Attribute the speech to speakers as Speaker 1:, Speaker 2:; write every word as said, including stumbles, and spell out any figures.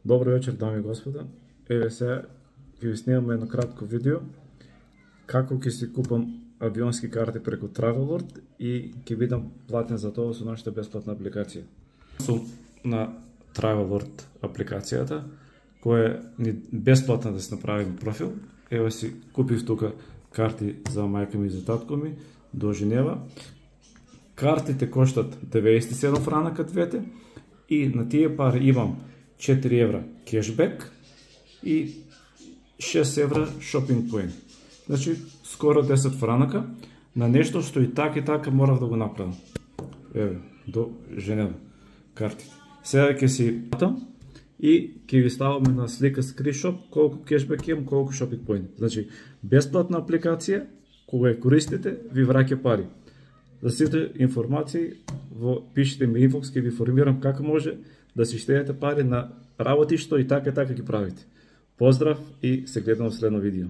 Speaker 1: Добро вечер, дами и господа. Еве сега ќе ви снимам едно кратко видео како ќе си купам авионски карти преку Travelworld и ќе бидам платен за тоа со нашата бесплатна апликација. Сум на Travelworld апликацијата, која е бесплатна да се направим профил. Еве си купив тука карти за мајка ми и за татко ми до Женева. Картите коштат деветдесет и седум франака двете и на тие пари имам четири евра кешбек и шест евра шопинг поинт. Значи, скоро десет франака на нешто што и така и така морав да го направам. Еве, до Женева картите. Сега ќе си платам и ќе ви ставаме на слика скриншот колку кешбек имам, колку шопинг поинт. Значи, бесплатна апликација, кога ја користите, ви враќа пари. За сите информации, во пишете ми инбокс, ќе ви информирам како може да си штедете пари на работи што и така и така ги правите. Поздрав и се гледаме во следно видео.